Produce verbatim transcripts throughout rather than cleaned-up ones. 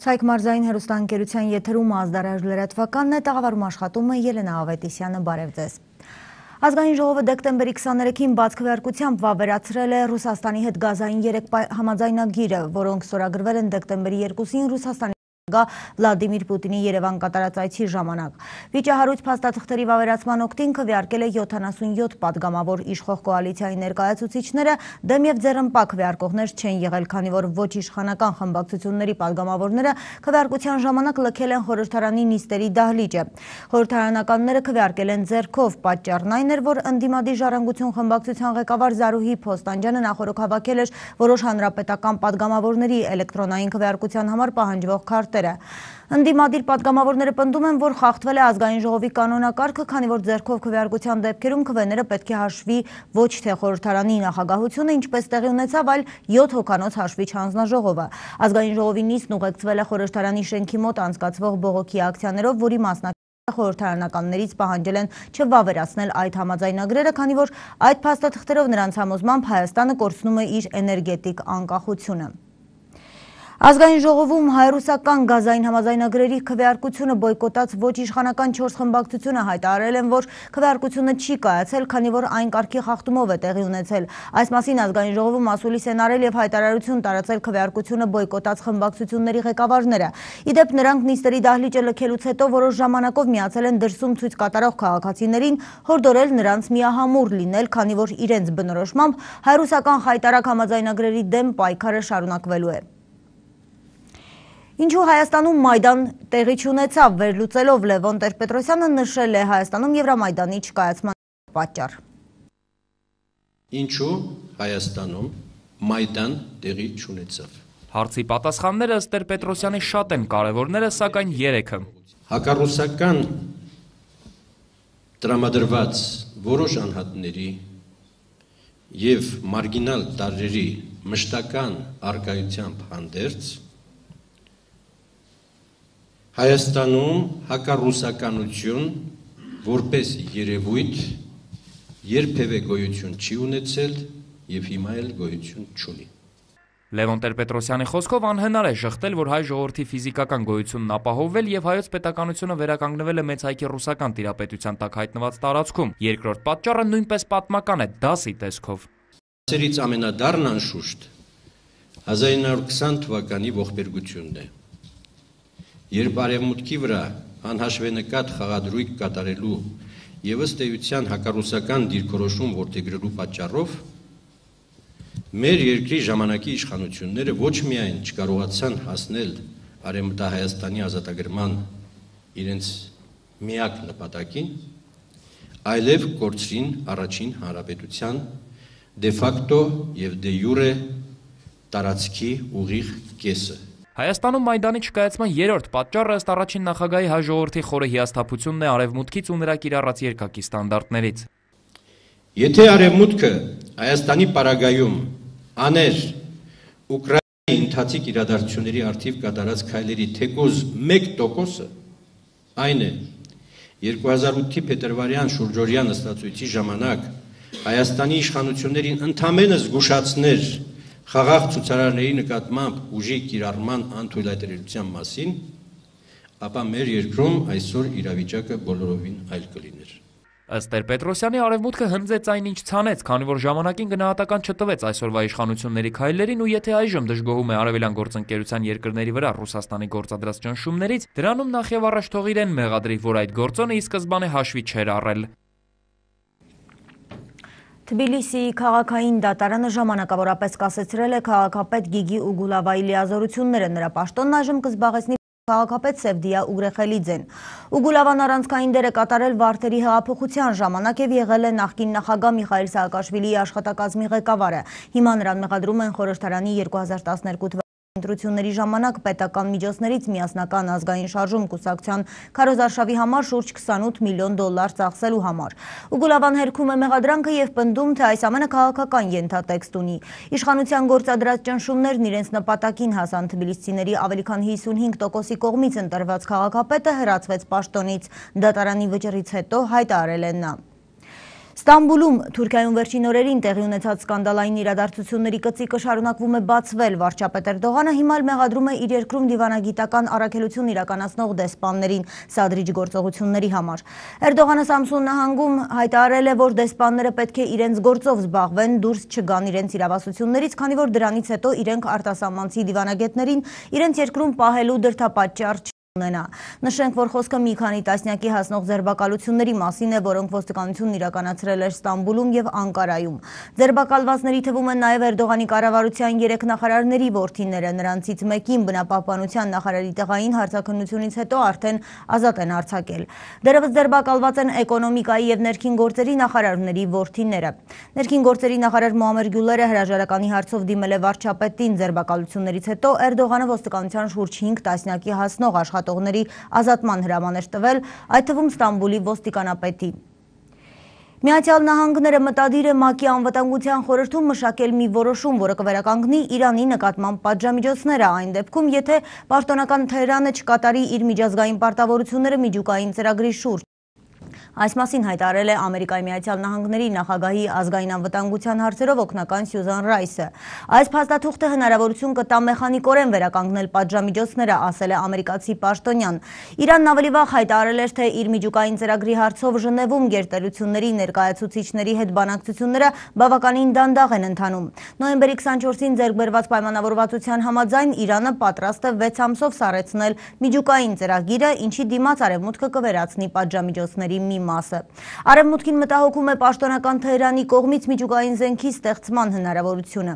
Ցայք մարզային հեռուստաընկերության եթերում ազդարար լրատվականն է, տաղավարում աշխատում է Ելենա Ավետիսյանը, բարև ձեզ։ Ազգային ժողովը դեկտեմբերի քսաներեքին բաց քվեարկությամբ վավերացրել է Ռուսաստանի հետ գազային երեք համաձայնագիրը, որոնք ստորագրվել են դեկտեմբերի երկուսին Ռուսաստանի Վլադիմիր Պուտինի Երևան կատարած այցի ժամանակ։ Վիճահարույց փաստաթղթերի վավերացման օգտին քվեարկել է յոթանասունյոթ պատգամավոր իշխող կոալիցիայի ներկայացուցիչները, դեմ եւ ձեռնպա քվեարկողներ չեն եղել, քանի որ ոչ իշխանական խմբակցությունների պատգամավորները քվեարկության ժամանակ լքել են խորհրդարանի նիստերի դահլիճը։ Խորհրդարանականները քվեարկել են ձեռքով, պատճառն այն էր, որ ընդդիմադիր ժառանգություն խմբակցության ղեկավար Զարուհի Փոստանջյանը նախորդ հավաքել էր որոշ հանրապետական պատգամավորների էլեկտրոնային քվեարկության համար պահանջվող քարտերը։ Ընդդիմադիր պատգամավորները պնդում են, որ խախտվել է ազգային ժողովի կանոնակարգը, քանի որ ձեռքով քվեարկության դեպքերում քվեները պետք է հաշվի ոչ թե խորհրդարանի նախագահությունը, ինչպես տեղի ունեցավ, այլ յոթ հոգանոց հաշվիչ հանձնաժողովը։ Ազգային ժողովի նիստն ուղեկցվել է խորհրդարանի շենքի մոտ անցկացվող բողոքի ակցիաներով, որի մասնակիցները խորհրդարանականներից պահանջել են չվավերացնել այդ համաձայնագրերը, քանի որ այդ փաստաթղթերով նրանց համոզմամբ Հայաստանը կորցնում է իր էներգետիկ անկախությունը։ Ազգային ժողովում հայ-ռուսական գազային համաձայնագրերի քվեարկությունը բոյկոտած ոչ իշխանական չորս խմբակցությունը հայտարարել են, որ քվեարկությունը չի կայացել, քանի որ այն կարգի խախտումով է տեղի ունեցել։ Այս մասին ազգային ժողովում ասուլիս են արել եւ հայտարարություն տարածել քվեարկությունը բոյկոտած խմբակցությունների ղեկավարները։ Իդեպ նրանք նիստերի դահլիճը լքելուց հետո որոշ ժամանակով միացել են դրսում ցույց կատարող քաղաքացիներին, հորդորել նրանց միահամուռ լինել, քանի որ իրենց բնորոշմամբ հայ-ռուսական խայտարակ համաձայնագրերի դեմ պայքարը շարունակվելու է։ Ինչու Հայաստանում Մայդան տեղի չունեցավ, վերլուծելով Լևոն Տեր-Պետրոսյանը նշել է Հայաստանում Եվրամայդանի չկայացման պատճառ։ Ինչու Հայաստանում Մայդան տեղի չունեցավ։ Հարցի պատասխանները ըստ Տեր-Պետրոսյանի շատ են, կարևորները սակայն երեքը։ Հակառուսական տրամադրված որոշ անհատների եւ մարգինալ տարրերի մշտական արկայությամբ հանդերձ Հայաստանում հակառուսականություն որպես երևույթ երբևէ գոյություն չի ունեցել եւ հիմա էլ գոյություն չունի։ Լևոն Տեր-Պետրոսյանի խոսքով անհնար է շղթել, որ հայ ժողովրդի ֆիզիկական գոյությունն ապահովվել եւ հայոց պետականությունը վերականգնվել է մեծ հայքի ռուսական տիրապետության տակ հայտնված տարածքում։ Երկրորդ պատճառը նույնպես պատմական է, դասի տեսքով։ Դասերից ամենադառն անշուշտ հազար իննսուն քսան թվականի ողբերգությունն է։ Երբ արևմուտքի վրա անհաշվենկատ խաղադրույք կատարելու եւ ըստ էության հակառուսական դիրքորոշում որդեգրելու պատճառով մեր երկրի ժամանակի իշխանությունները ոչ միայն չկարողացան հասնել Արևմտահայաստանի ազատագրման իրենց միակ նպատակին, այլև կորցրին առաջին հանրապետության դե ֆակտո եւ դե յուրե տարածքի ուղիղ կեսը։ Հայաստանում Մայդանի չկայացման երրորդ պատճառը ըստ առաջին նախագահի հայ ժողովրդի խորը հիասթափությունն է արևմուտքից ու նրա կիրառած երկակի ստանդարտներից։ Եթե արևմուտքը Հայաստանի պարագայում աներ Ուկրաինայի ընթացիկ իրադարձությունների առթիվ կատարած քայլերի թեկուզ մեկ տոկոսը, այն է երկու հազար ութի փետրվարյան շուրջօրյա նստածույցի ժամանակ Հայաստանի իշխանություններին ընդամենը զգուշացներ խաղաղ ցուցարարների նկատմամբ ուժի կիրառման անթույլատրելիության մասին, ապա մեր երկրում այսօր իրավիճակը բոլորովին այլ կլիներ։ Ըստ Տեր-Պետրոսյանի արևմուտքը հնձեց այն, ինչ ցանեց, քանի որ ժամանակին գնահատական չտվեց այսօրվա իշխանությունների քայլերին ու եթե այժմ դժգոհում է արևելյան գործընկերության երկրների վրա Ռուսաստանի գործադրած ճնշումներից, դրանում նախ եւ առաջ թող իրեն մեղադրի, որ այդ գործոնը ի սկզբանե հաշվի չէր առել։ Թբիլիսիի քաղաքային դատարանը ժամանակավորապես կասեցրել է քաղաքապետ Գիգի Ուգուլավայի լիազորությունները, նրա պաշտոնն այժմ կզբաղեցնի քաղաքապետ Սևդիա Ուգրեխելիձեն։ Ուգուլավան առանցքային դեր է կատարել Վարդերի հեղափոխության ժամանակ եւ եղել է նախկին նախագահ Միխայիլ Սաակաշվիլիի աշխատակազմի ղեկավարը։ Հիմա նրան մեղադրում են խորհրդարանի երկու հազար տասներկու թվականի ընտրությունների ժամանակ պետական միջոցներից միասնական ազգային շարժում կուսակցության քարոզարշավի համար շուրջ քսանութ միլիոն դոլար ծախսելու համար։ Ուգուլավան հերքում է մեղադրանքը եւ պնդում, թե այս ամենը քաղաքական ենթատեքստ ունի։ Իշխանության գործադրած ճնշումներն իրենց նպատակին հասան, թբիլիսցիների ավելի քան հիսունհինգ տոկոսի կողմից ընտրված քաղաքապետը հրացվեց պաշտոնից։ Դատարանի վճռից հետո հայտարարել է նա։ Ստամբուլում Թուրքիայում վերջին օրերին տեղի ունեցած սկանդալային իրադարձությունների կծիկը շարունակվում է բացվել։ Վարչապետ Էրդողանը հիմա մեղադրում է իր երկրում դիվանագիտական առաքելություն իրականացնող դեսպաններին սադրիչ գործողությունների համար։ Էրդողանը Սամսուն նահանգում հայտարարել է, որ դեսպանները պետք է իրենց գործով զբաղվեն, դուրս չգան իրենց իրավասություններից, քանի որ դրանից հետո իրենք արտասահմանցի դիվանագետներին իրենց երկրում պահելու դրդապատճառ ունենա։ Նշենք, որ խոսքը մի քանի տասնյակի հասնող ձերբակալությունների մասին է, որոնք ոստիկանությունն իրականացրել էր Ստամբուլում եւ Անկարայում։ Ձերբակալվածների թվում են նաեւ Էրդողանի կառավարության երեք նախարարների որդիները, նրանցից մեկին բնապահպանության նախարարի տեղային հարցաքննությունից հետո արդեն ազատ են արձակել։ Դեռևս ձերբակալված են էկոնոմիկայի եւ ներքին գործերի նախարարների որդիները։ Ներքին գործերի նախարար Մոհամմեդ Գյուլերը հրաժարականի հարցով դիմել է վարչապետին ձերբակալություններից հետո Էրդողանը ոստիկանության շուրջ հինգ տասնյակի հասնող աշխատողների ազատման հրաման էր տվել, այդ թվում Ստամբուլի ոստիկանապետի։ Միացյալ Նահանգները մտադիր է ՄԱԿ-ի անվտանգության խորհրդում մշակել մի որոշում, որը կվերականգնի Իրանի նկատմամբ պատժամիջոցները այն դեպքում, եթե պաշտոնական Թեհրանը չկատարի իր միջազգային պարտավորությունները միջուկային ծրագրի շուրջ։ Այս մասին հայտարարել է Ամերիկայի Միացյալ Նահանգների նախագահի ազգային անվտանգության հարցերով օգնական Սյուզան Ռայսը։ Այս փաստաթուղթը հնարավորություն կտա մեխանիկորեն վերականգնել պատժամիջոցները, ասել է ամերիկացի պաշտոնյան։ Իրանն ավելի վաղ հայտարարել էր, թե իր միջուկային ծրագրի հարցով Ժնևում գերտերությունների ներկայացուցիչների հետ բանակցությունները բավականին դանդաղ են ընթանում։ Նոյեմբերի քսանչորսին ձեռք բերված պայմանավորվածության համաձայն Իրանը պատրաստ է վեց ամսով սառեցնել միջուկային ծրագիրը, ինչի դիմաց Արևմուտքը կվերացնի պատժամիջոցների մի մասը։ Արևմուտքին մտահոգում է պաշտոնական Թեհրանի կողմից միջուկային զենքի ստեղծման հնարավորությունը։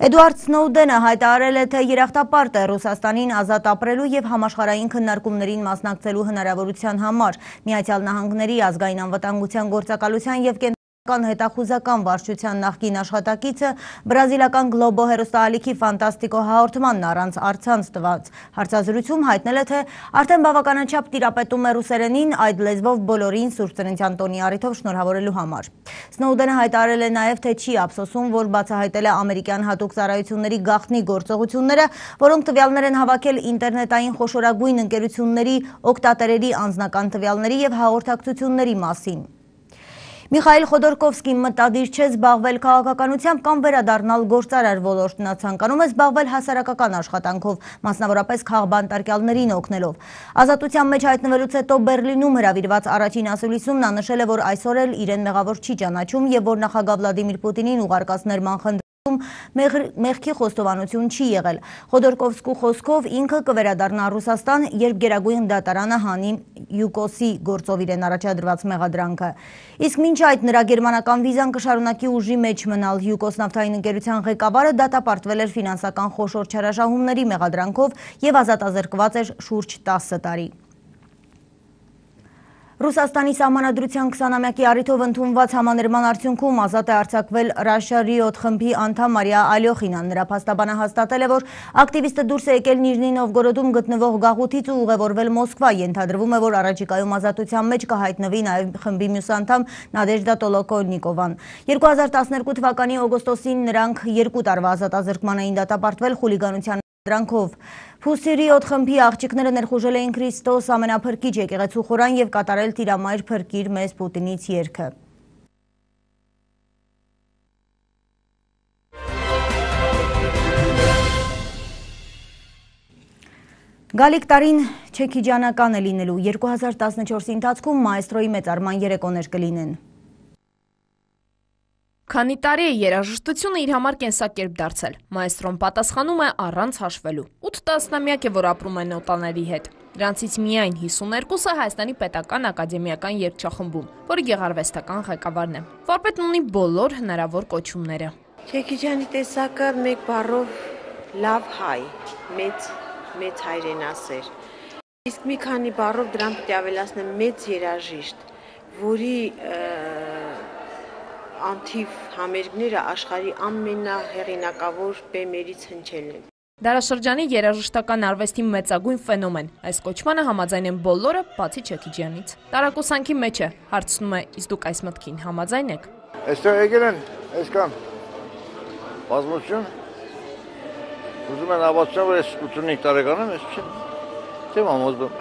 Էդուարդ Սնոուդենը հայտարարել է, թե երախտապարտ է Ռուսաստանին ազատ ապրելու եւ համաշխարհային քննարկումներին մասնակցելու հնարավորության համար։ Միացյալ Նահանգների ազգային անվտանգության գործակալության եւ հետախուզական վարչության նախկին աշխատակիցը բրազիլական Գլոբո հեռուստաալիքի Ֆանտաստիկո հաղորդմանն առանց առցանց տված հարցազրույցում հայտնել է, թե արդեն բավականաչափ տիրապետում է ռուսերենին, այդ լեզվով բոլորին Սուրբ Ծննդյան տոնի առիթով շնորհավորելու համար։ Սնոուդենը հայտարարել է նաև, թե չի ափսոսում, որ բացահայտել է ամերիկյան հատուկ ծառայությունների գաղտնի գործողությունները, որոնք տվյալներ են հավաքել ինտերնետային խոշորագույն ընկերությունների օգտատերերի անձնական տվյալների եւ հաղորդակցությունների մասին։ Միխայիլ Խոդորկովսկին մտադիր չէ զբաղվել քաղաքականությամբ կամ վերադառնալ գործարար ոլորտ, նա ցանկանում է զբաղվել հասարակական աշխատանքով, մասնավորապես քաղբանտարկյալներին օգնելով։ Ազատության մեջ հայտնվելուց հետո Բերլինում հրավիրված առաջին ասուլիսում նա նշել է, որ այսօր էլ իրեն մեղավոր չի ճանաչում եւ որ նախագահ Վլադիմիր Պուտինին ուղարկած ներման խնդրում մեղքի խոստովանություն չի եղել։ Խոդորկովսկու խոսքով ինքը կվերադառնա Ռուսաստան, երբ Գերագույն դատարանը հանի յուկոսի գործով իրեն առաջադրված մեղադրանքը։ Իսկ մինչ այդ նրա գերմանական վիզան կշարունակի ուժի մեջ մնալ։ յուկոս նավթային ընկերության ղեկավարը դատապարտվել էր ֆինանսական խոշոր չարաշահումների մեղադրանքով եւ ազատազրկված էր շուրջ տասը տարի։ Ռուսաստանի սահմանադրության քսանամյակի առիթով ընդունված համաներման արդյունքում ազատ է արձակվել Russia Riot խմբի անդամ Մարիա Ալյոխինան։ Նրա փաստաբանը հաստատել է, որ ակտիվիստը դուրս է եկել Նիժնի Նովգորոդում գտնվող գաղութից ու ուղևորվել Մոսկվա։ Ենթադրվում է, որ առաջիկայում ազատության մեջ կհայտնվի նաև խմբի մյուս անդամ Նադեժդա Տոլոկոնիկովան։ երկու հազար տասներկու թվականի օգոստոսին նրանք երկու տարվա ազատազրկման էին դատապարտվել խուլիգանության դրանքով։ Pussy Riot խմբի աղջիկները ներխուժել էին Քրիստոս ամենափրկիչ եկեղեցու խորան եւ կատարել Տիրամայր փրկիր մեզ Պուտինից երգը։ Գալիք տարին չեքիջանական է լինելու։ երկու հազար տասնչորսի ընթացքում մայստրոյի մեծարման երեկոներ կլինեն։ Քանի տարի է երաժշտությունը իր համար կենսակերպ դարձել։ Մայստրոն պատասխանում է առանց հաշվելու։ ութ տասնամյակ է, որ ապրում է նոտաների հետ։ Դրանցից միայն հիսուներկուսը Հայաստանի պետական ակադեմիական երգչախմբում, որի գեղարվեստական ղեկավարն է։ Վարպետն ունի բոլոր հնարավոր կոչումները։ Չեքիջանի տեսակը մեկ բառով լավ հայ, մեծ մեծ հայրենասեր։ Իսկ մի քանի բառով դրան պետք է ավելացնեմ մեծ երաժիշտ, որի անթիվ համերգները աշխարհի ամենահեղինակավոր բեմերից հնչել են։ Դարաշրջանի երաժշտական արվեստի մեծագույն ֆենոմեն։ Այս կոչմանը համաձայն են բոլորը, բացի Չեքիջյանից։ Տարակուսանքի մեջ է, հարցնում է, իսկ դուք այս մտքին համաձայն եք։ Այստեղ եկել են, այսքան բազմություն։ Ուզում են հավատացնել, որ ես ութսունհինգ տարեկան եմ, ես չեմ չեմ համոզվում։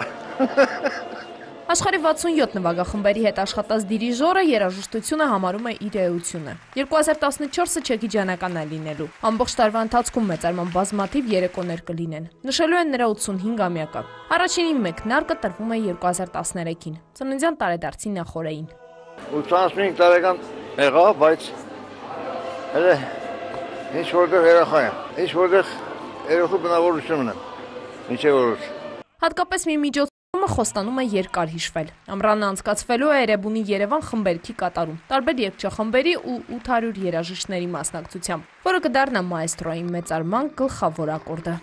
Աշխարհի վաթսունյոթ նվագախմբերի հետ աշխատած դիրիժորը երաժշտությունը համարում է իր էությունը։ երկու հազար տասնչորսը չեքիջանական է լինելու։ Ամբողջ տարվա ընթացքում մեծարման բազմաթիվ երեկոներ կլինեն։ Նշելու են նրա ութսունհինգամյակը։ Առաջինի մեկնարկը տրվում է երկու հազար տասներեքին, ծննդյան տարեդարձի նախօրեին։ ութսունհինգ տարեկան եղա, բայց հələ ինչ որտեղ երախա եմ, ինչ որտեղ երախու բնավորությունն եմ, ինչե որոշ։ Հատկապես մի միջոցումը խոստանում է երկար հիշվել։ Ամռանը անցկացվելու է Էրեբունի Երևան խմբերքի կատարում, տարբեր երգչախմբերի ու ութ հարյուր երաժիշտների մասնակցությամբ, որը կդառնա մաեստրոյի մեծարման գլխավոր ակորդը։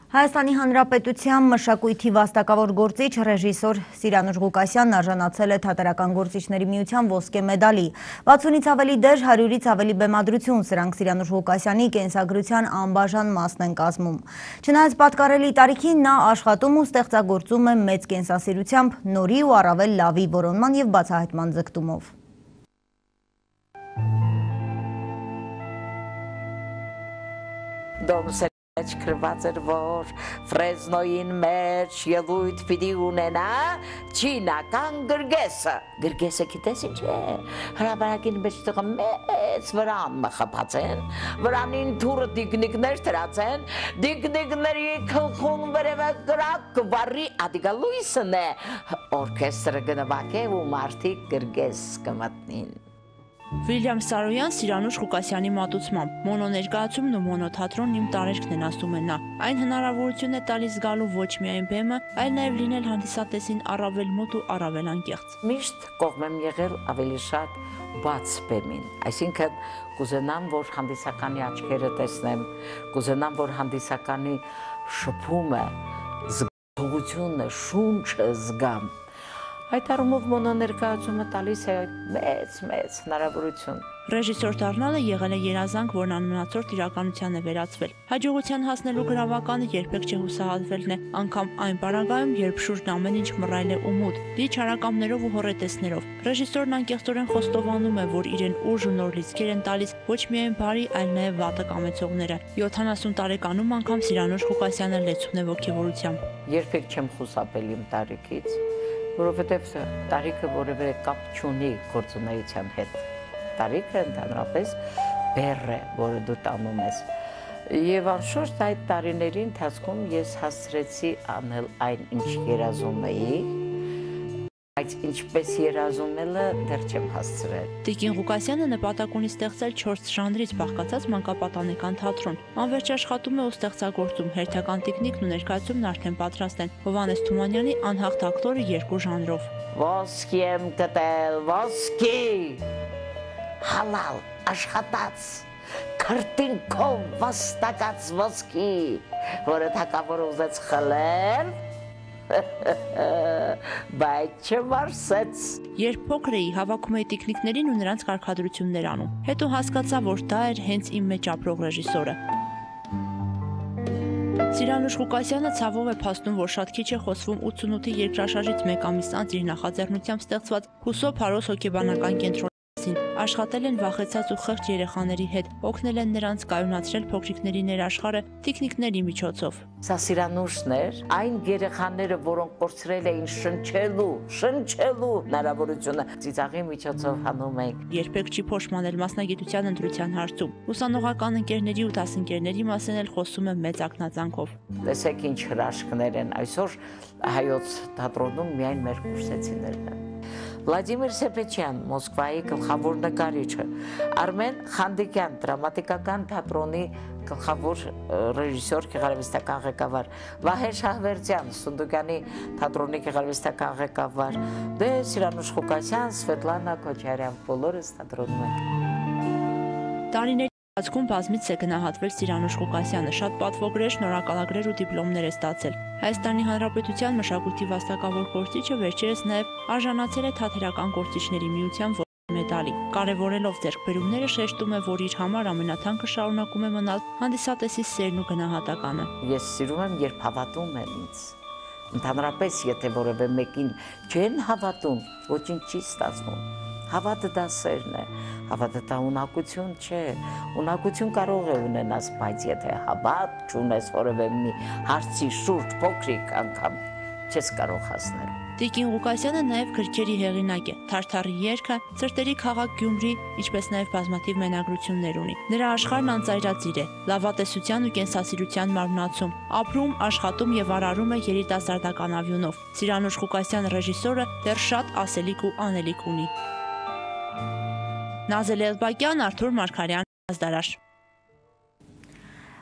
Հայաստանի Հանրապետության մշակույթի վաստակավոր գործիչ ռեժիսոր Սիրանուշ Ղուկասյանն արժանացել է Թատերական գործիչների միության ոսկե մեդալի։ վաթսունից ավելի դեր, հարյուրից ավելի բեմադրություն, սրանք Սիրանուշ Ղուկասյանի կենսագրության անբաժան մասն են կազմում։ Չնայած պատկառելի տարիքին նա աշխատում ու ստեղծագործում է մեծ կենսասիրությամբ, նորի ու առավել լավի որոնման և բացահայտման ձգտումով։ Քրված էր, որ Ֆրեզնոյին մեջ ելույթ պիտի ունենա չինական գրգեսը։ Գրգեսը գիտես ինչ է, հրապարակին մեջ տղա մեծ վրան մխապած են, վրանին թուրը դիգնիկներ տրած են, դիգնիկների քլխուն վերևը գրակ վարի ադիգա լույսն է, օրքեստրը գնվակ է ու մարդիկ գրգես կմտնին։ Վիլյամ Սարոյան Սիրանուշ Ղուկասյանի մատուցմամբ մոնո ներկայացումն ու մոնոթատրոնն իմ տարերքն են, ասում է նա։ Այն հնարավորություն է տալիս գալու ոչ միայն բեմը, այլ նաև լինել հանդիսատեսին առավել մոտ ու առավել անկեղծ։ Միշտ կողմ եմ եղել ավելի շատ բաց բեմին, այսինքն կուզենամ, որ հանդիսականի աչքերը տեսնեմ, կուզենամ, որ հանդիսականի շփումը, զգացողությունը, շունչը զգամ։ Այդ առումով մոնո ներկայացումը տալիս է մեծ-մեծ հնարավորություն։ Ռեժիսոր դառնալը եղել է երազանք, որն անմնացորդ իրականության է վերածվել։ Հաջողության հասնելու գրավականը երբեք չհուսահատվելն է, անգամ այն պարագայում, երբ շուրջն ամեն ինչ մռայլ է ու մութ, դի չարակամներով ու հոռետեսներով։ Ռեժիսորն անկեղծորեն խոստովանում է, որ իրեն ուժ ու նոր լիցքեր են տալիս ոչ միայն բարի, այլ նաև վատը կամեցողները։ յոթանասուն տարեկանում անգամ Սիրանուշ Ղուկասյանը լեցուն է ոգևորությամբ։ Երբեք չեմ խուսափել իմ տարիքից, որովհետև տարիքը որևէ կապ չունի գործունեության հետ։ Տարիքը ընդհանրապես բեռ է, որը դու տանում ես։ Եվ անշուշտ այդ տարիների ընթացքում ես հասցրեցի անել այն, ինչ երազում էի, բայց ինչպես երազումելը դեռ չեմ հասցրել։ Տիկին Ղուկասյանը նպատակ ունի ստեղծել չորս ժանրից բաղկացած մանկապատանեկան թատրոն։ Անվերջ աշխատում է ու ստեղծագործում, հերթական տիկնիկն ու ներկայացումն արդեն պատրաստ են։ Հովհաննես Թումանյանի անհաղթ ակտորը երկու ժանրով։ Ոսկի եմ գտել, ոսկի, հալալ, աշխատած, քրտինքով վաստակած ոսկի, որը թակավորը ուզեց խլել, բայց չմարսեց։ Երբ փոքր էի, հավաքում էի տիկնիկներին ու նրանց կարգադրություններ անում։ Հետո հասկացա, որ դա էր հենց իմ մեջ ապրող ռեժիսորը։ Սիրանուշ Ղուկասյանը ցավով է փաստում, որ շատ քիչ է խոսվում ութսունութի երկրաշարժից մեկ ամիս անց իր նախաձեռնությամբ ստեղծված Հուսո Փարոս հոգեբանական կենտրոնի աշխատել են վախեցած ու խեղճ երեխաների հետ, օգնել են նրանց կայունացրել փոքրիկների ներաշխարհը տիկնիկների միջոցով։ Սա Սիրանուշն էր, այն երեխաները, որոնք կորցրել էին շնչելու, շնչելու հնարավորությունը, ծիծաղի միջոցով հանում ենք։ Երբեք չի փոշմանել մասնագիտության ընտրության հարցում։ Ուսանողական ընկերների ու դասընկերների մասին էլ խոսում է մեծ ակնածանքով։ Տեսեք ինչ հրաշքներ են այսօր հայոց թատրոնում միայն մեր կուրսեցիներն են։ Վլադիմիր Սեպեչյան, Մոսկվայի գլխավոր նկարիչը, Արմեն Խանդիկյան, դրամատիկական թատրոնի գլխավոր ռեժիսոր, գեղարվեստական ղեկավար, Վահե Շահվերդյան, Սունդուկյանի թատրոնի գեղարվեստական ղեկավար, դե Սիրանուշ Ղուկասյան, Սվետլանա Քոչարյան, բոլորս թատրոնում ենք։ Տարիների ընթացքում բազմից է գնահատվել Սիրանուշ Ղուկասյանը, շատ պատվոգրեր, շնորհակալագրեր ու դիպլոմներ է ստացել։ Հայաստանի Հանրապետության մշակույթի վաստակավոր գործիչը վերջերս նաև արժանացել է Թատերական գործիչների միության ոսկե մեդալի։ Կարևորելով ձեռքբերումները շեշտում է, որ իր համար ամենաթանկը շարունակում է մնալ հանդիսատեսի սերն ու գնահատականը։ Ես սիրում եմ, երբ հավատում են ինձ։ Ընդհանրապես, եթե որևէ մեկին չեն հավատում, ոչինչ չի ստացվում։ Հավատը դա սերն է, հավատը դա ունակություն չէ, ունակություն կարող է ունենաս, բայց եթե հավատ չունես որևէ մի հարցի շուրջ փոքրիկ անգամ չես կարող հասնել։ Տիկին Ղուկասյանը նաև գրքերի հեղինակ է, Թարթարի երգը, Սրտերի քաղաք Գյումրի, ինչպես նաև բազմաթիվ մենագրություններ ունի։ Նրա աշխարհն անծայրածիր է, լավատեսության ու կենսասիրության մարմնացում, ապրում, աշխատում եւ արարում է երիտասարդական ավյունով։ Սիրանուշ Ղուկասյան ռեժիսորը դեռ շատ ասելիք ու անելիք ունի։ Նազել Էլբակյան, Արթուր Մարգարյան, Ազդարար։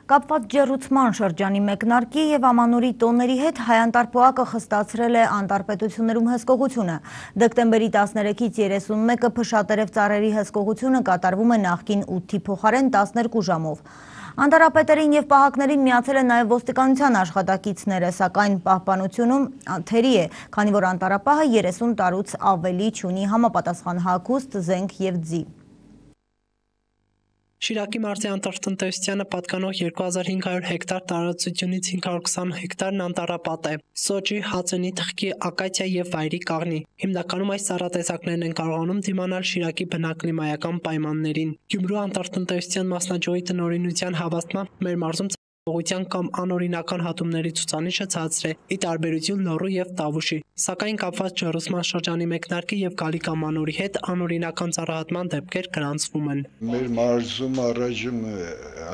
Կապված ջեռուցման շրջանի մեկնարկի եւ ամանորի տոների հետ հայ-անտար պոակը խստացրել է անտարպետություններում հսկողությունը։ Դեկտեմբերի տասներեքից երեսունմեկը փշատերև ծառերի հսկողությունը կատարվում է նախկին ութի փոխարեն տասներկու ժամով։ Անտարապետերին եւ պահակներին միացել են նաեւ ոստիկանության աշխատակիցները, սակայն պահպանությունում թերի է, քանի որ անտարապահը երեսուն տարուց ավելի չունի համապատասխան հագուստ, զենք եւ ձի։ Շիրակի մարզի անտառատնտեսությանը պատկանող երկու հազար հինգ հարյուր հեկտար տարածությունից հինգ հարյուր քսան հեկտարն անտառապատ է։ Սոճի, հացենի, թխկի, ակացիա եւ վայրի կաղնի։ Հիմնականում այս ծառատեսակներն են կարողանում դիմանալ Շիրակի բնակլիմայական պայմաններին։ Գյումրու անտառատնտեսության մասնաճյուղի տնօրինության հավաստմամբ մեր մարզում Ողության կամ անօրինական հատումների ցուցանիշը ցածր է, ի տարբերություն Լոռու եւ Տավուշի, սակայն կապված ջեռուցման շրջանի մեկնարկի եւ գալիք ամանորի հետ անօրինական ծառահատման դեպքեր գրանցվում են։ Մեր մարզում առայժմ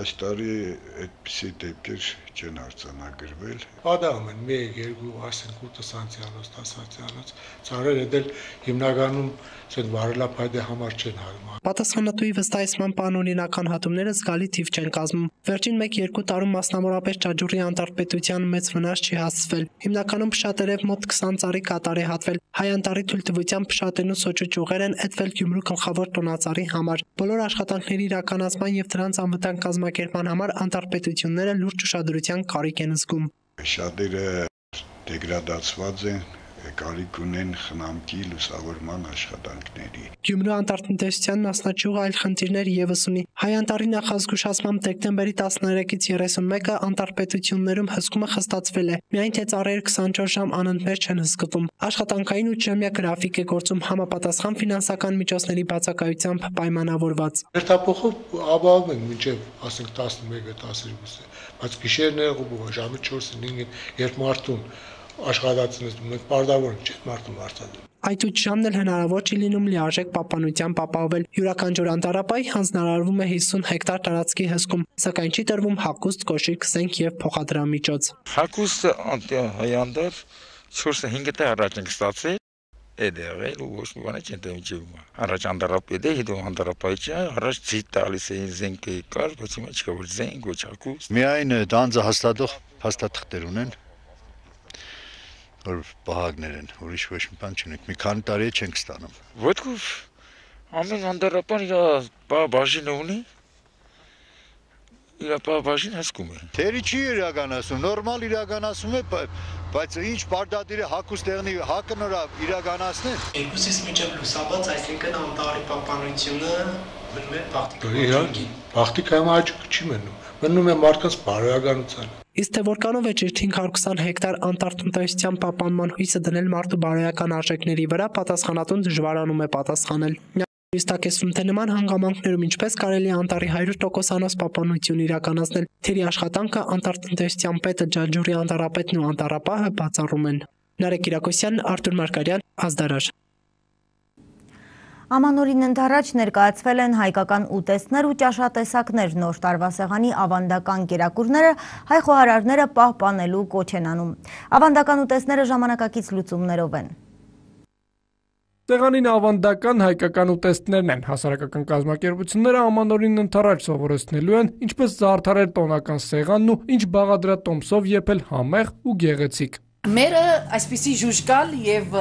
այս տարի այդպիսի դեպքեր չեն արձանագրվել։ Պատահում են մեկ, երկու, ասենք ութ սանտիանոց, դես սանտիանոց ծառերը դել հիմնականում ցեն վարելափայտե համար չեն հարում։ Պատասխանատուի վստահեցման անօրինական հատումները զգալի թիվ չեն կազմում։ Վերջին մեկ-երկու տարում մասնավորապես Ճաճուրի անտառպետության մեծ վնաս չի հասցվել։ Հիմնականում փշատերև մոտ քսան ծառի կատար է հատվել։ Հայ անտառի թույլտվությամբ փշատերն ու սոճու ճյուղեր են էտվել Գյումրու գլխավոր տոնածառի համար։ Բոլոր աշխատանքների իրականացման եւ դրանց անվտանգ կազմակերպման համար անտառպետությունները լուրջ ուշադրության կարիք են զգում։ Շատերը դեգրադացված են, կարիք ունեն խնամքի լուսավորման աշխատանքների։ Գյումրու անտառատնտեսության մասնաճյուղը այլ խնդիրներ եւս ունի։ Հայ անտառի նախազգուշացմամբ դեկտեմբերի տասներեքից երեսունմեկը անտառպետություններում հսկումը խստացվել է։ Միայն թե ծառերը քսանչորս ժամ անընդմեջ չեն հսկվում։ Աշխատանքային ութժամյա գրաֆիկ է գործում համապատասխան ֆինանսական միջոցների բացակայությամբ պայմանավորված։ Հերթափոխով ապահովում ենք մինչև ասենք տասնմեկը տասներկուսը, բայց գիշերները ու ժամը չորսը հինգը երբ մարդուն աշխատացնես մենք պարտավոր չէ մարդու մարդադեմ։ Այդ ութ ժամն էլ հնարավոր չի լինում լիարժեք պահպանությամբ ապահովել։ Յուրաքանչյուր անտառապահի հանձնարարվում է հիսուն հեկտար տարածքի հսկում, սակայն չի տրվում հագուստ, կոշիկ, զենք եւ փոխադրամիջոց։ Հագուստը անտառ չորս հինգ տեղ առաջ ենք ստացել, էդեղել ու ոչ մի բան չեն դեմջում։ Առաջ անտառապետ է, հետո անտառապահի չէ, առաջ ցի տալիս էին զենքը կար, բայց հիմա չկա որ զենք, ոչ հագուստ։ Միայն դանձը հաստատող փաստաթղթեր ունեն, որ պահակներ են, ուրիշ ոչ մի բան չունենք, մի քանի տարի չենք ստանում։ Ոտքով ամեն անտառապան իր բաժինը ունի, իր բաժին հսկում է։ Թերի չի իրականացում, նորմալ իրականացում է, բայց ինչ պարտադիր է հագուստ տեղնի հակը նորա իրականացնել։ Երկուսից միջև լուսաբաց, այսինքն անտառի պահպանությունը մնում է բախտիկի։ Բախտիկայում աճ չի մնում, մնում է մարդկանց բարոյականությանը։ Իսկ թե որքանով է ճիշտ հինգ հարյուր քսան հեկտար անտառատնտեսության պահպանման հույսը դնել մարդու բարոյական արժեքների վրա, պատասխանատուն դժվարանում է պատասխանել։ Իստակեսում թե նման հանգամանքներում ինչպես կարելի է անտառի հարյուր տոկոսանոց պահպանություն իրականացնել, թերի աշխատանքը անտառատնտեսության պետը, Ջաճուրի անտառապետն ու անտառապահը բացառում են։ Նարեկ Կիրակոսյան, Արթուր Մարգարյան, Ազդարար։ Ամանորին ընթառաջ ներկայացվել են հայկական ուտեստներ ու ճաշատեսակներ, նոր տարվա սեղանի ավանդական կերակուրները հայ խոհարարները պահպանելու կոչ են անում։ Ավանդական ուտեստները ժամանակակից լուծումներով են։ Սեղանին ավանդական հայկական ուտեստներն են, հասարակական կազմակերպությունները ամանորին ընթառաջ սովորեցնելու են, ինչպես զարդարել տոնական սեղանն ու ինչ բաղադրատոմսով եփել համեղ ու գեղեցիկ։ Մերը այսպիսի ժուժկալ եւ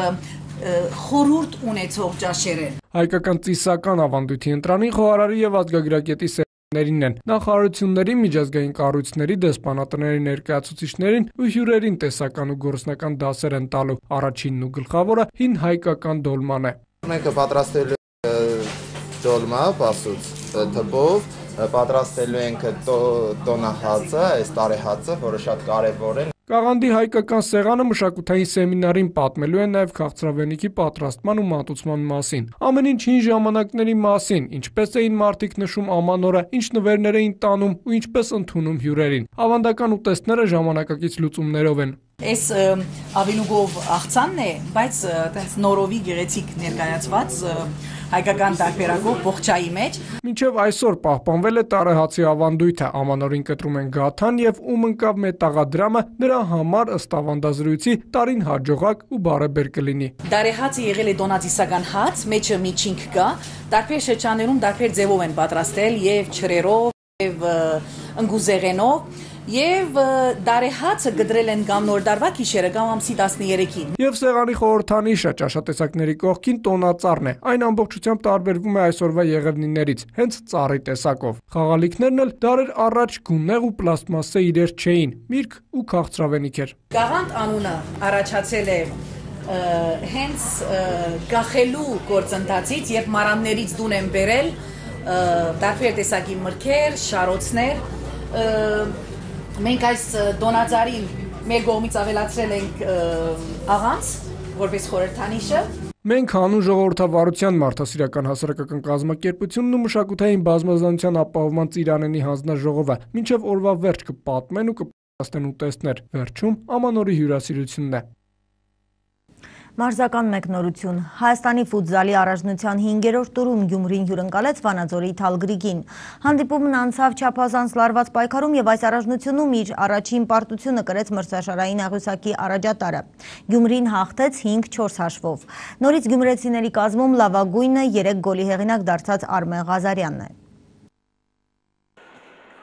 խորուրդ ունեցող ճաշեր են։ Հայկական ծիսական ավանդույթի ընտրանին խոհարարի եւ ազգագրագետի սեղաններին են, նախարարությունների, միջազգային կառույցների, դեսպանատների ներկայացուցիչներին ու հյուրերին տեսական ու գործնական դասեր են տալու։ Առաջինն ու գլխավորը հին հայկական դոլման է։ Մենք պատրաստել ենք դոլմա, պասուց թփով, պատրաստելու ենք տոնահացը, այս տարեհացը, որը շատ կարևոր է։ Կաղանդի հայկական սեղանը մշակութային սեմինարին պատմելու է նաև քաղցրավենիքի պատրաստման ու մատուցման մասին։ Ամեն ինչ հին ժամանակների մասին, ինչպես էին մարդիկ նշում ամանորը, ինչ նվերներ էին տանում ու ինչպես ընդունում հյուրերին։ Ավանդական ուտեստները ժամանակակից լուծումներով են։ Այս ավելուգով աղցանն է, բայց այտենց նորովի գեղեցիկ ներկայացված հայկական տարբերակով ողջայի մեջ։ Մինչև այսօր պահպանվել է տարեհացի ավանդույթը, ամանորին կտրում են գաթան եւ ում ընկավ մետաղադրամը, նրա համար ըստ ավանդազրույցի տարին հաջողակ ու բարեբեր կլինի։ Տարեհացը եղել է դոնատիսական հաց, մեջը միջինք կա, տարբեր շրջաններում տարբեր ձևով են պատրաստել եւ չրերով եւ ընկուզեղենով։ Եվ դարեհացը գդրել են կամ նոր դարվա գիշերը կամ ամսի տասներեքին։ Եվ սեղանի խորհրդանիշը ճաշատեսակների կողքին տոնածառն է։ Այն ամբողջությամբ տարբերվում է այսօրվա եղևնիներից, հենց ծառի տեսակով։ Խաղալիքներն էլ դարեր առաջ գունեղ ու պլաստմասե իրեր չէին, միրգ ու քաղցրավենիք էր։ Գաղանդ անունը առաջացել է հենց գախելու գործընթացից, երբ մարաններից դուն են բերել տարբեր տեսակի մրգեր, շարոցներ։ Մենք այս դոնածառին մեր կողմից ավելացրել ենք աղանց, որպես խորհրդանիշը։ Մենք հանուն ժողովրդավարության մարդասիրական հասարակական կազմակերպությունն ու մշակութային բազմազանության ապահովման ծիրանենի հանձնաժողովը մինչև օրվա վերջ կպատմեն ու կպատասխանեն ուտեստներ։ Վերջում ամանորի հյուրասիրությունն է։ Մարզական մեկնորություն Հայաստանի ֆուտզալի առաջնության հինգերորդ տուրում Գյումրին հյուրընկալեց Վանաձորի Թալգրիգին։ Հանդիպումն անցավ չափազանց լարված պայքարում եւ այս առաջնությունում իր առաջին պարտությունը կրեց մրցաշարային աղյուսակի առաջատարը։ Գյումրին հաղթեց հինգ չորս հաշվով։ Նորից գյումրեցիների կազմում լավագույնը երեք գոլի հեղինակ դարձած Արմեն Ղազարյանն է։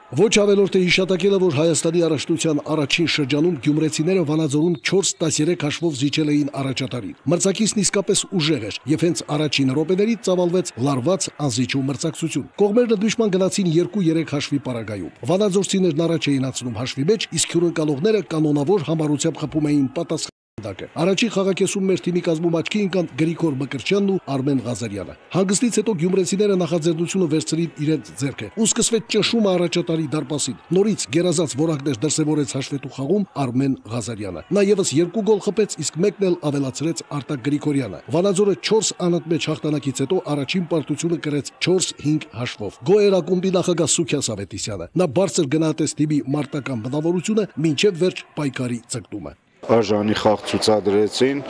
Ոչ ավելորդ է հիշատակելը, որ Հայաստանի առաջնության առաջին շրջանում գյումրեցիները Վանաձորում չորս տասներեք հաշվով զիջել էին առաջատարին։ Մրցակիցն իսկապես ուժեղ էր եւ հենց առաջին րոպեներից ծավալվեց լարված անզիջու մրցակցություն։ Կողմերն դժման գնացին երկու երեք հաշվի պարագայում։ Վանաձորցիներն առաջ էին անցնում հաշվի մեջ, իսկ հյուրընկալողները կանոնավոր համառությամբ խփում էին պատասխան։ Առաջին խաղակեսում մեր թիմի կազմում աչքի ընկան Գրիգոր Մկրտչյանն ու Արմեն Ղազարյանը։ Հանգստից հետո գյումրեցիները նախաձեռնությունը վերցրին իրենց ձեռքը ու սկսվեց ճնշումը առաջատարի դարպասին։ Նորից գերազանց որակներ դրսևորեց հաշվետու խաղում Արմեն Ղազարյանը։ Նա եւս երկու գոլ խփեց, իսկ մեկն էլ ավելացրեց Արտակ Գրիգորյանը։ Վանաձորը չորս անընդմեջ հաղթանակից հետո առաջին պարտությունը կրեց չորս հինգ հաշվով։ Գոհ էր ակումբի նախագահ Սուքիաս Ավետիսյանը։ Նա բարձր գնահատեց թիմի մարտական բնավորությունը մինչև վերջ պայքարի ցկտումը։ Արժանի խաղ ցուցադրեցին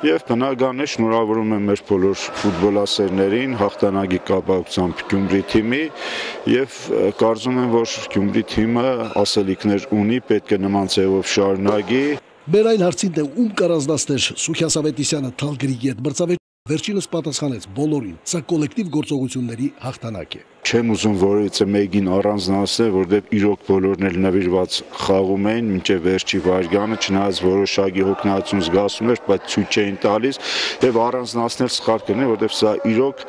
եւ բնական է շնորհավորում եմ մեր բոլոր ֆուտբոլասերներին հաղթանակի կապակցությամբ Գյումրի թիմի եւ կարծում եմ որ Գյումրի թիմը ասելիքներ ունի, պետք է նման ձևով շարունակի։ Մեր այն հարցին թե ում կառանձնացներ Սուքիաս Ավետիսյանը Թալգրիգի հետ մրցավեճ վերջինս պատասխանեց բոլորին, սա կոլեկտիվ գործողությունների հաղթանակ է։ Չեմ ուզում որևիցե մեկին առանձնացնել, որտեղ իրոք բոլորն էլ նվիրված խաղում էին մինչև վերջի վայրկյանը, չնայած որոշակի հոգնածություն զգացում էր, բայց ցույց չէին տալիս եւ առանձնացնել սխալ կլինի, որտեղ սա իրոք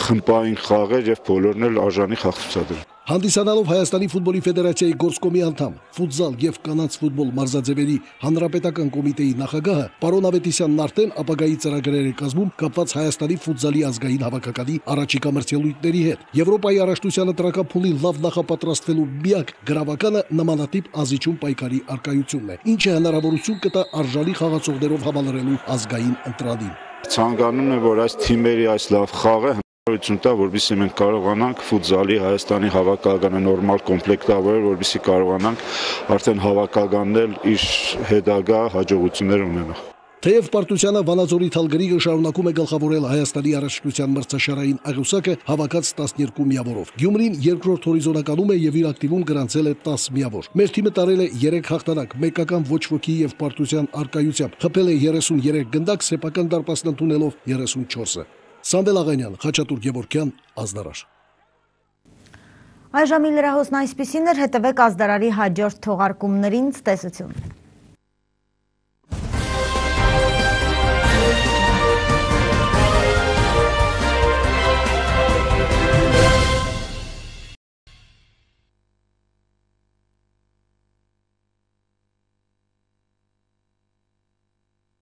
խմբային խաղ էր եւ բոլորն էլ արժանի խաղ ցուցադրել։ Հանդիսանալով Հայաստանի ֆուտբոլի ֆեդերացիայի գործկոմի անդամ, ֆուտզալ եւ կանանց ֆուտբոլ մարզաձևերի հանրապետական կոմիտեի նախագահը պարոն Ավետիսյանն արդեն ապագայի ծրագրեր է կազմում կապված Հայաստանի ֆուտզալի ազգային հավաքականի առաջիկա մրցելույթների հետ։ Եվրոպայի առաջնությանը տրակապուլի լավ նախապատրաստվելու միակ գրավականը նմանատիպ անզիջում պայքարի արկայությունն է, ինչը հնարավորություն կտա արժանի խաղացողներով համալրելու ազգային ընտրանին։ Ցանկանում եմ, որ այս թիմերի այս լավ խաղը տա, որովհետեւ մենք կարողանանք ֆուտզալի Հայաստանի հավաքականը նորմալ կոմպլեկտավորել, որովհետեւ կարողանանք արդեն հավաքականնել իր հետագա հաջողություններ ունենալ։ Թեև պարտությանը Վանաձորի Թալգրիգը շարունակում է գլխավորել Հայաստանի առաջնության մրցաշարային աղյուսակը հավաքած տասներկու միավորով։ Գյումրին երկրորդ հորիզոնականում է եւ իր ակտիվում գրանցել է տասը միավոր։ Մեր թիմը տարել է երեք հաղթանակ, մեկական ոչ ոքի եւ պարտության արկայությամբ, խփել է երեսուներեք գնդակ, սեփական դարպասն ընդունելով երեսունչորսը։ Սամվել Աղանյան, Խաչատուր Գևորգյան, Ազդարար։ Այժմ լրահոսն այսպիսին էր, հետևեք Ազդարարի հաջորդ թողարկումներին, ցտեսություն։